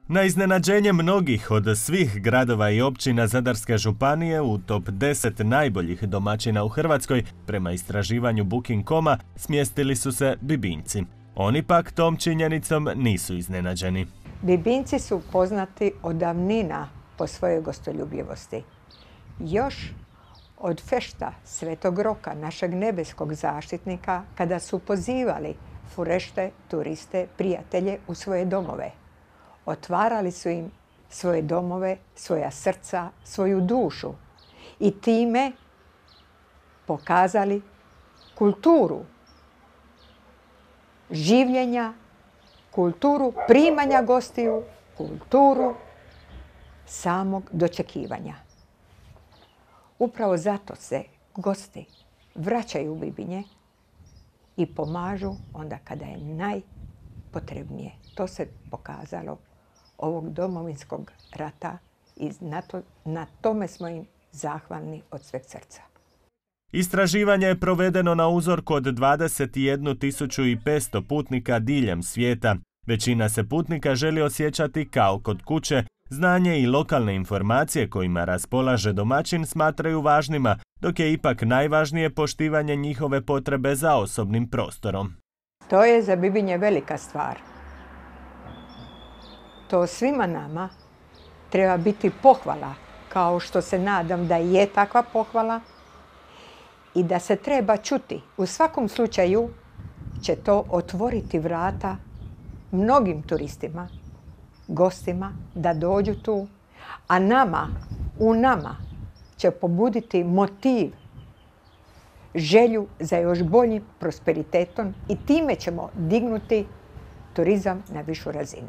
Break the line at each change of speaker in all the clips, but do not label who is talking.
Na iznenađenje mnogih od svih gradova i općina Zadarske županije u top 10 najboljih domaćina u Hrvatskoj, prema istraživanju Booking.com-a, smjestili su se Bibinjci. Oni pak tom činjenicom nisu iznenađeni.
Bibinjci su poznati od davnina po svojoj gostoljubivosti. Još od fešta Svetog Roka, našeg nebeskog zaštitnika, kada su pozivali furešte, turiste, prijatelje u svoje domove. Otvarali su im svoje domove, svoja srca, svoju dušu i time pokazali kulturu življenja, kulturu primanja gostiju, kulturu samog dočekivanja. Upravo zato se gosti vraćaju u Bibinje i pomažu onda kada je najpotrebnije. To se pokazalo ovog Domovinskog rata i na tome smo im zahvalni od sveg srca.
Istraživanje je provedeno na uzorku od 21.500 putnika diljem svijeta. Većina se putnika želi osjećati kao kod kuće. Znanje i lokalne informacije kojima raspolaže domaćin smatraju važnima, dok je ipak najvažnije poštivanje njihove potrebe za osobnim prostorom.
To je za Bibinje velika stvar. To svima nama treba biti pohvala, kao što se nadam da je takva pohvala i da se treba čuti. U svakom slučaju će to otvoriti vrata mnogim turistima, gostima da dođu tu, a u nama će pobuditi motiv, želju za još boljim prosperitetom i time ćemo dignuti turizam na višu razinu.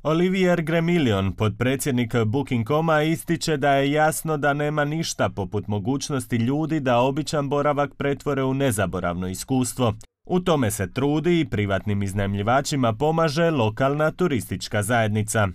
Olivier Gremillion, potpredsjednik Booking.com-a, ističe da je jasno da nema ništa poput mogućnosti ljudi da običan boravak pretvore u nezaboravno iskustvo. U tome se trudi i privatnim iznajmljivačima pomaže lokalna turistička zajednica.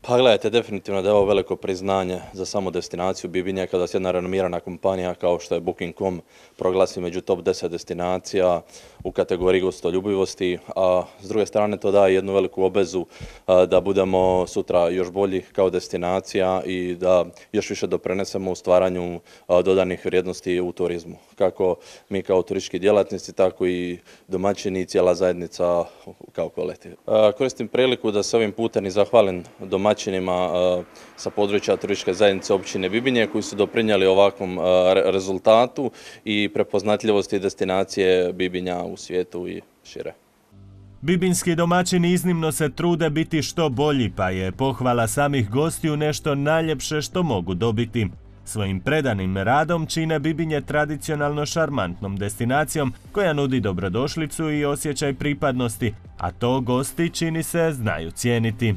Pa gledajte, definitivno da je ovo veliko priznanje za samu destinaciju Bibinje kada se jedna renomirana kompanija kao što je Booking.com proglasi među top 10 destinacija u kategoriji gostoljubivosti, a s druge strane to daje jednu veliku obvezu da budemo sutra još bolji kao destinacija i da još više doprinesemo u stvaranju dodanih vrijednosti u turizmu. Kako mi kao turistički djelatnici, tako i domaćini i cijela zajednica kao kolektiv. Koristim priliku da se ovim putem i zahvalim domaćinima sa područja turističke zajednice općine Bibinje koji su doprinijeli ovakvom rezultatu i prepoznatljivosti destinacije Bibinja u svijetu i šire.
Bibinjski domaćini iznimno se trude biti što bolji, pa je pohvala samih gostiju nešto najljepše što mogu dobiti. Svojim predanim radom čine Bibinje tradicionalno šarmantnom destinacijom koja nudi dobrodošlicu i osjećaj pripadnosti, a to gosti, čini se, znaju cijeniti.